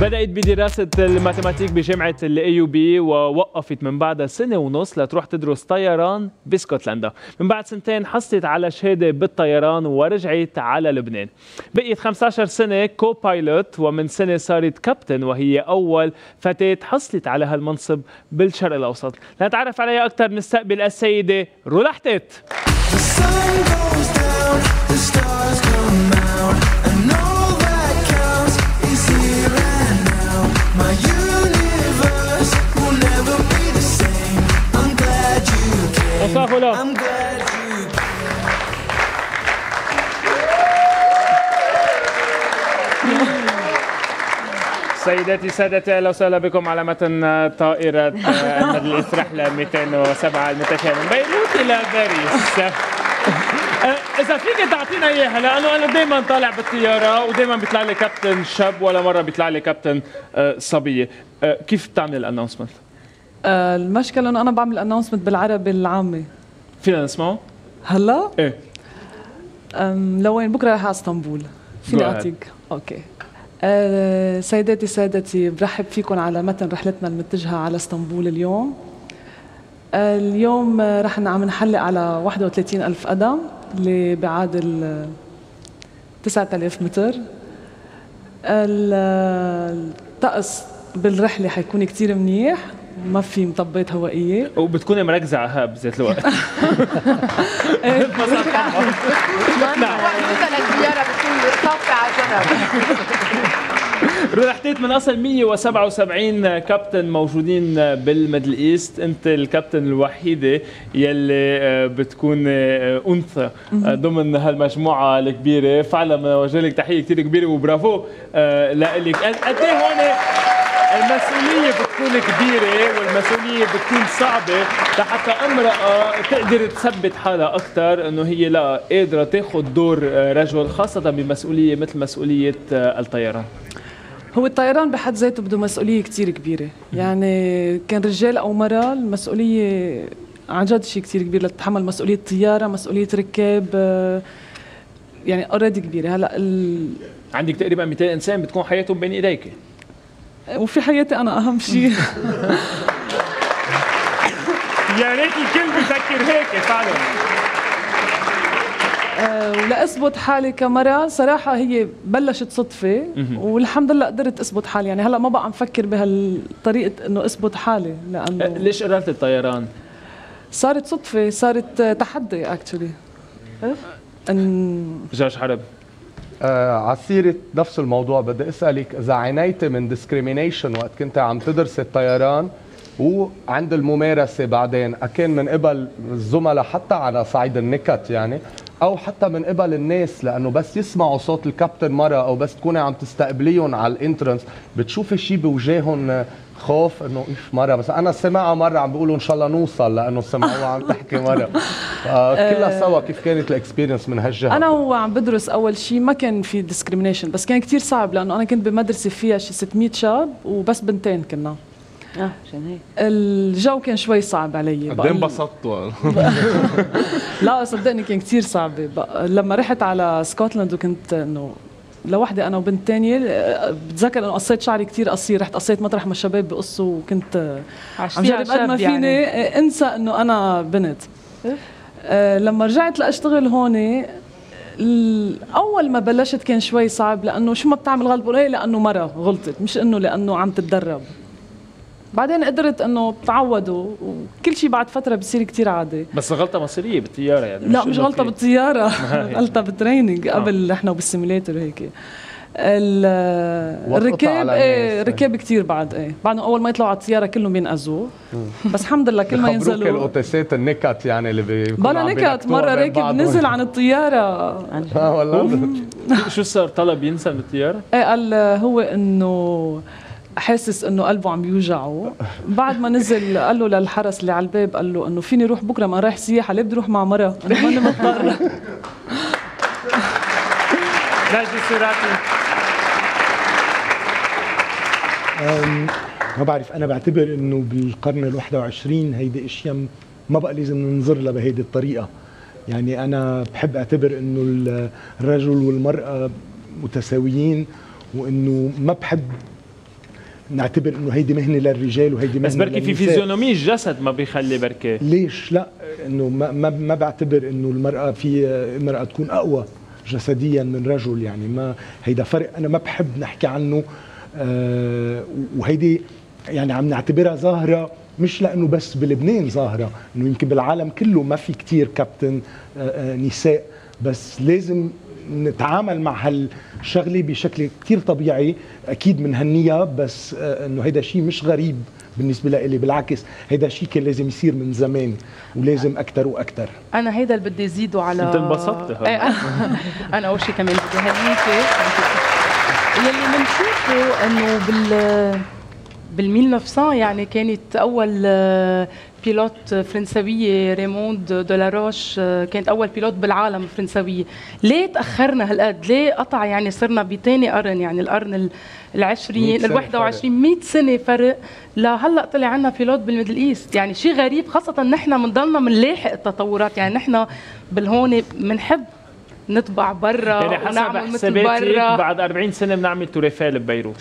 بدأت بدراسة الماتيماتيك بجامعة الAUB ووقفت من بعدها سنة ونص لتروح تدرس طيران باسكتلندا. من بعد سنتين حصلت على شهادة بالطيران ورجعت على لبنان. بقيت 15 سنة كو بايلوت، ومن سنة صارت كابتن، وهي أول فتاة حصلت على هالمنصب بالشرق الأوسط. لنتعرف عليها أكثر نستقبل السيدة رولا حتيت. Bonsoir Rola. سيداتي سادتي، اهلا وسهلا بكم على متن طائرة الميدل إيست رحلة 207 المتشابه من بيروت إلى باريس. إذا فيك تعطينا إياها، لأنه أنا دايما طالع بالطيارة ودايما بيطلع لي كابتن شاب ولا مرة بيطلع لي كابتن صبية. كيف بتعمل الأناونسمنت؟ المشكلة إنه أنا بعمل أناونسمنت بالعربي العامي. فينا نسمعه؟ هلا؟ إيه. لوين؟ بكرة رايحة على اسطنبول. فيني أعطيك؟ أوكي. سيداتي سادتي، برحب فيكم على متن رحلتنا المتجهة على اسطنبول اليوم. اليوم رح عم نحلق على 31,000 قدم اللي بيعادل 9,000 متر. الطقس بالرحلة حيكون كتير منيح، ما في مطبات هوائية، وبتكوني مركزة على هاب بذات الوقت. رولا حتيت من اصل 177 كابتن موجودين بالميدل ايست، انت الكابتن الوحيده يلي بتكون انثى ضمن هالمجموعه الكبيره. فعلا بوجه لك تحيه كثير كبيره وبرافو لك. قد ايه هون المسؤولية بتكون كبيرة والمسؤولية بتكون صعبة لحتى امرأة تقدر تثبت حالها أكثر إنه هي لا قادرة تاخذ دور رجل، خاصة بمسؤولية مثل مسؤولية الطيران. هو الطيران بحد ذاته بده مسؤولية كتير كبيرة، يعني كان رجال أو مرأة المسؤولية عن جد شيء كتير كبير لتتحمل مسؤولية طيارة، مسؤولية ركاب، يعني اوريدي كبيرة. هلا عندك تقريبا 200 إنسان بتكون حياتهم بين إيديك، وفي حياتي أنا أهم شيء. يا ريت الكل بيفكر هيك فعلا. ولا اثبت حالي كمرأة صراحة هي بلشت صدفة، والحمد لله قدرت اثبت حالي. يعني هلا ما بقى نفكر بهالطريقة انه اثبت حالي، لانه ليش قررت الطيران؟ صارت صدفة، صارت تحدي اكشلي. جورج حرب، على سيرة نفس الموضوع بدي اسألك إذا عانيتي من ديسكريمينيشن وقت كنت عم تدرسي الطيران وعند الممارسة بعدين، أكان من قبل الزملاء حتى على صعيد النكت يعني، أو حتى من قبل الناس، لأنه بس يسمعوا صوت الكابتن مرة أو بس تكوني عم تستقبليهم على الانترنس بتشوفي شيء بوجههم خوف انه ايش مره. بس انا سمعها مره عم بيقولوا ان شاء الله نوصل لانه سمعوها عم تحكي مره. كلها سوا كيف كانت الاكسبيرينس من هالجهه؟ انا وعم بدرس اول شيء ما كان في ديسكريميشن، بس كان كتير صعب لانه انا كنت بمدرسه فيها شي 600 شاب وبس بنتين كنا. عشان هيك الجو كان شوي صعب علي. قد ايه انبسطتوا؟ لا صدقني كان كتير صعب. لما رحت على سكوتلاند وكنت انه لوحدي انا وبنت تانية، بتذكر انه قصيت شعري كتير قصير، رحت قصيت مطرح ما الشباب بقصوا، وكنت عم جرب قد ما فيني يعني انسى انه انا بنت. لما رجعت لاشتغل هون، اول ما بلشت كان شوي صعب، لانه شو ما بتعمل غلط بقول ايه لانه مرة غلطت، مش انه لانه عم تتدرب. بعدين قدرت انه تعودوا، وكل شيء بعد فتره بصير كتير عادي. بس غلطه مصيريه بالطياره يعني؟ لا مش غلطه بالطياره، غلطه بالتريننج قبل احنا وبالسيميليتر هيك. الركاب ركاب كتير بعد بعدهم اول ما يطلعوا على الطياره كلهم بينقذوا، بس الحمد لله كل ما ينزلوا الاوتيسات النكت يعني اللي بلا نكت. مره راكب نزل عن الطياره. والله شو صار؟ طلب ينزل من الطياره؟ قال هو انه حاسس انه قلبه عم يوجعه. بعد ما نزل قال له للحرس اللي على الباب، قال له انه فيني روح بكره ما رايح سياحه، ليه بدي روح مع مرة؟ انا ماني مضطر. ناجي سراتي، ما بعرف، انا بعتبر انه بالقرن ال21 هيدي اشياء ما بقى لازم ننظر لها بهيدي الطريقه. يعني انا بحب اعتبر انه الرجل والمراه متساويين، وانه ما بحب نعتبر انه هيدي مهنه للرجال وهيدي مهنه بس بركي في للنساء. فيزيونومي الجسد ما بيخلي بركي. ليش لا؟ انه ما بعتبر انه المراه في امراه تكون اقوى جسديا من رجل، يعني ما هيدا فرق انا ما بحب نحكي عنه. وهيدي يعني عم نعتبرها ظاهره مش لانه بس بلبنان ظاهره، انه يمكن بالعالم كله ما في كتير كابتن نساء، بس لازم نتعامل مع هالشغله بشكل كتير طبيعي. اكيد منهنيها، بس انه هيدا شيء مش غريب بالنسبه لي، بالعكس هيدا شيء كان لازم يصير من زمان ولازم اكثر واكثر. انا هيدا اللي بدي زيده على انت انبسطت. انا اول شيء كمان بدي هنيكي يلي بنشوفه انه بال 1900 يعني كانت اول بيلوت فرنسويه ريموند دولاروش كانت اول بيلوت بالعالم فرنسويه. ليه تاخرنا هالقد؟ ليه قطع يعني صرنا بثاني قرن، يعني القرن العشرين ال21 100 سنه فرق لهلا طلع عنا بيلوت بالميدل ايست؟ يعني شيء غريب، خاصه نحن بنضلنا بنلاحق التطورات. يعني نحن بالهون بنحب نطبع برا يعني حسب حساباتك بعد 40 سنه بنعمل توريفيل ببيروت.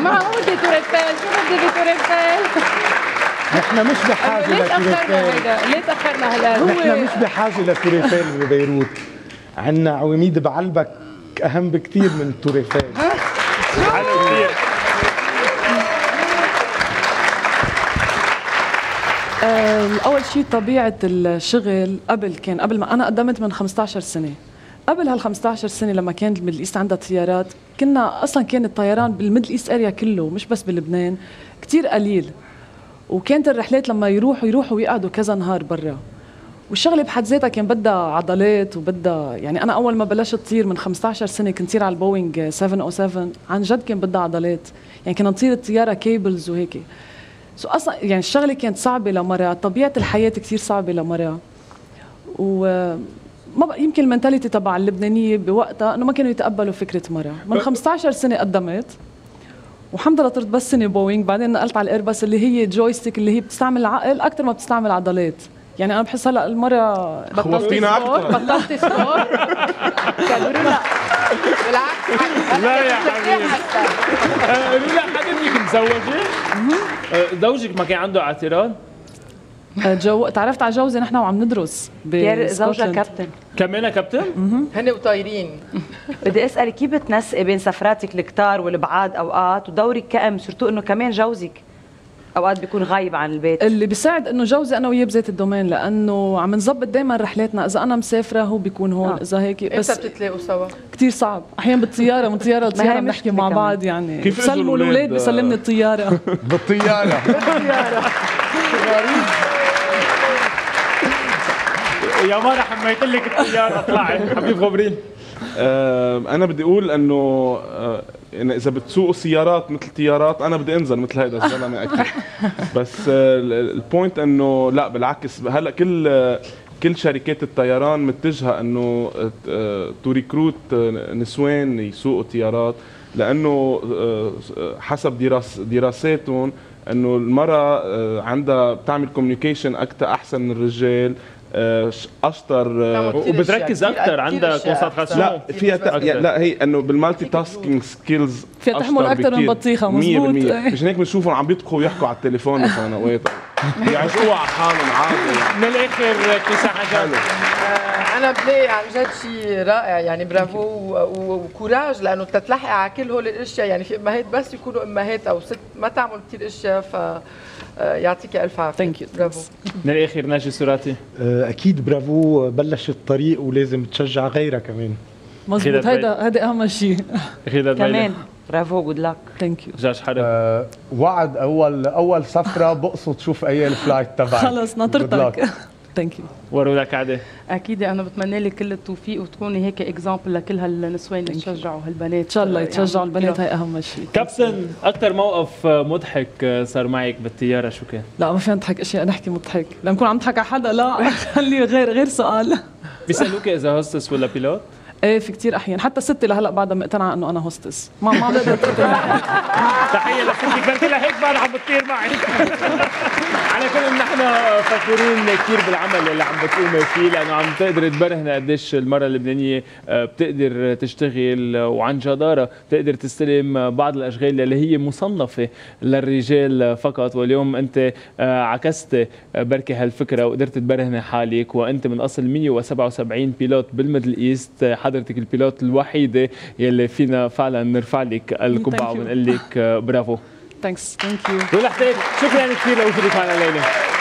ما هو بدي توريفيل، شو بدي بتوريفيل؟ نحن مش بحاجه لتوريفيل. ليه تاخرنا هلا؟ نحن مش بحاجه لتوريفيل ببيروت، عندنا عواميد بعلبك اهم بكثير من التوريفيل. حلو كثير. أول شيء طبيعة الشغل قبل ما أنا قدمت من 15 سنة. قبل هال 15 سنة لما كانت الميدل إيست عندها طيارات، كنا أصلا كان الطيران بالميدل إيست أريا كله مش بس بلبنان كتير قليل، وكانت الرحلات لما يروحوا ويقعدوا كذا نهار برا. والشغله بحد ذاتها كان بدها عضلات وبدها، يعني انا اول ما بلشت طير من 15 سنه كنت طير على البوينغ 707، عن جد كان بدها عضلات، يعني كنا نطير الطياره كيبلز وهيك. اصلا يعني الشغله كانت صعبه لمرة، طبيعه الحياه كثير صعبه لمرة. ما يمكن المنتاليتي تبع اللبنانيه بوقتها انه ما كانوا يتقبلوا فكره مرة. من 15 سنه قدمت، والحمد لله طرت بس سنه بوينغ، بعدين نقلت على الايرباص اللي هي جويستيك اللي هي بتستعمل العقل اكثر ما بتستعمل عضلات. يعني انا بحس هلا المره خوفتينا اكثر. بطلت سبور كبرنا بالعكس. لا يا حبيبي رولا، حضرتك متزوجه؟ زوجك ما كان عنده اعتراض؟ تعرفت على جوزي نحن وعم ندرس زوجها كابتن كمان كابتن؟ هن وطايرين. بدي اسالك كيف بتنسقي بين سفراتك الكتار والبعاد اوقات ودورك كأم، سورتو انه كمان جوزك اوقات بيكون غايب عن البيت؟ اللي بيساعد انه جوزي انا وياه بذات الدومين، لانه عم نظبط دائما رحلاتنا، اذا انا مسافره هو بيكون هون، اذا هيك. بس امتى بتتلاقوا سوا؟ كثير صعب، احيانا بالطياره من طياره لطياره بنحكي مع بعض. يعني كيف بسلموا الاولاد بسلمني الطياره. بالطياره يا مارا حميت لك الطياره اطلعي حبيب غبرين. انا بدي اقول انه يعني اذا بتسوقوا سيارات مثل طيارات انا بدي انزل مثل هيدا الزلمه اكيد. بس البوينت انه لا بالعكس، هلا كل شركات الطيران متجهه انه تو ريكروت نسوان يسوقوا طيارات، لانه حسب دراساتهم انه المراه عندها بتعمل كوميونيكيشن اكثر احسن من الرجال، اشطر وبتركز اكثر، عندها كونسنتراسيون. لا فيها لا هي انه بالمالتي تاسكينج سكيلز فيها تحمل اكثر من بطيخه. مزبوط. مشان هيك بنشوفهم عم بيطبخوا ويحكوا على التليفون مثلا اوقات يعيشوها على حالهم عادي. من الاخر كيسان حاجه انا بلاقي عن جد شيء رائع، يعني برافو وكوراج، لانه تتلحق على كل هول الاشياء. يعني في امهات بس يكونوا امهات او ست ما تعمل كثير اشياء، ف يعطيك الف عافيه. برافو. من الاخر ناجي سوراتي اكيد برافو، بلش الطريق ولازم تشجع غيرها كمان. مزبوط، هذا اهم شيء كمان. برافو، جود لك. ثانك يو. جاج حرب وعد اول سفره بقصد شوف اي الفلايت تبعك. خلص ناطرتك. ثانك يو. وروا لك عادي. اكيد انا بتمنى لك كل التوفيق وتكوني هيك اكزامبل لكل هالنسوان اللي تشجعوا هالبنات. ان شاء الله يتشجعوا البنات، هي اهم شيء. كابتن، اكثر موقف مضحك صار معك بالطياره شو كان؟ لا ما فينا نضحك اشياء نحكي مضحك، لما نكون عم نضحك على حدا لا خلي غير سؤال. بيسالوك اذا هوستس ولا بيلوت؟ ايه في كثير احيان، حتى ستي لهلا بعدها مقتنعه انه انا هوستس، ما بقدر تحيه لستك، بلكي لهيك بعد عم بتطير معي. صراحة كلنا نحن فخورين كثير بالعمل اللي عم بتقومي فيه، لأنه عم تقدر تبرهن قديش المرأة اللبنانية بتقدر تشتغل وعن جدارة بتقدر تستلم بعض الأشغال اللي هي مصنفة للرجال فقط. واليوم أنت عكست بركي هالفكرة وقدرت تبرهن حالك، وأنت من أصل 177 بيلوت بالميدل إيست حضرتك البيلوت الوحيدة يلي فينا فعلا نرفع لك القبعة ونقول لك برافو. ثانكس. ثانك يو. شكرا كثير لوجودك معنا الليلة.